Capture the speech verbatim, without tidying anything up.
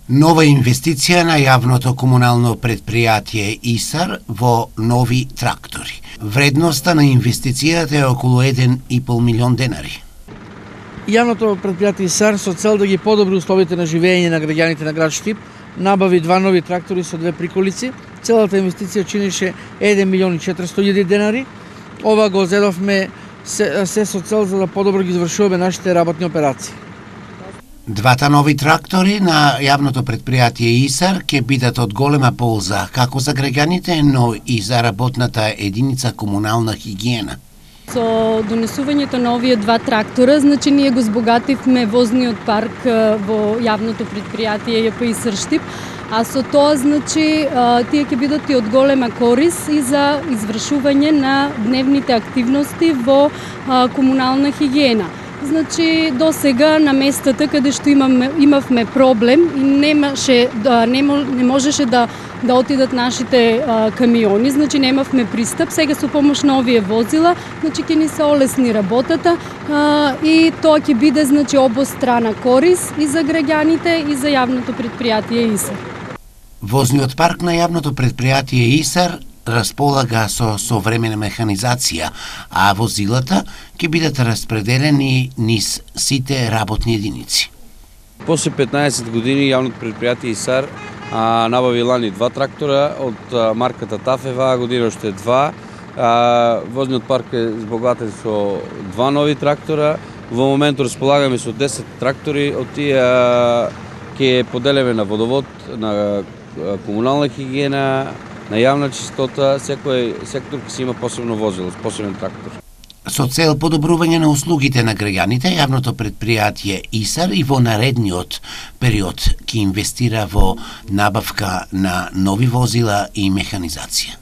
Нова инвестиција на јавното комунално предпријатие ИСАР во нови трактори. Вредноста на инвестицијата е околу еден и пол милион денари. Јавното предпријатие ИСАР со цел да ги подобри условите на живење на граѓаните на град Штип набави два нови трактори со две приколици. Целата инвестиција чинише еден милион и четиристотини илјади денари. Ова го зедовме се, се со цел за да подобро ги извршуваме нашите работни операции. Двата нови трактори на јавното предпријатие ИСАР ќе бидат од голема полза како за граѓаните, но и за работната единица комунална хигиена. Со донесувањето на овие два трактора, значи ние го збогативме возниот парк во јавното предпријатие Ј П ИСАР Штип, а со тоа значи тие ќе бидат и од голема корис и за извршување на дневните активности во комунална хигиена. Значи до сега на местата каде што имаме имавме проблем и немаше да не, не можеше да да отидат нашите а, камиони, значи немавме пристап. Сега со помош на овие возила, значи ќе ни се олесни работата а, и тоа ќе биде значи обострана корис и за граѓаните и за јавното предпријатие ИСАР. Возниот парк на јавното предпријатие ИСАР располага со современа механизација, а возилата ќе бидат распределени низ сите работни единици. После петнаесет години јавното предпријатие ИСАР а, набави лани два трактора од а, марката Тафева, година уште два. А, возниот парк е збогатен со два нови трактора. Во моментот располагаме со десет трактори, од тие ќе поделиме на водовод, на комунална хигиена, на јавна чистота, секој сектор ќе си има посебно возило, посебен трактор. Со цел подобрување на услугите на граѓаните, јавното предпријатие ИСАР и во наредниот период ќе инвестира во набавка на нови возила и механизација.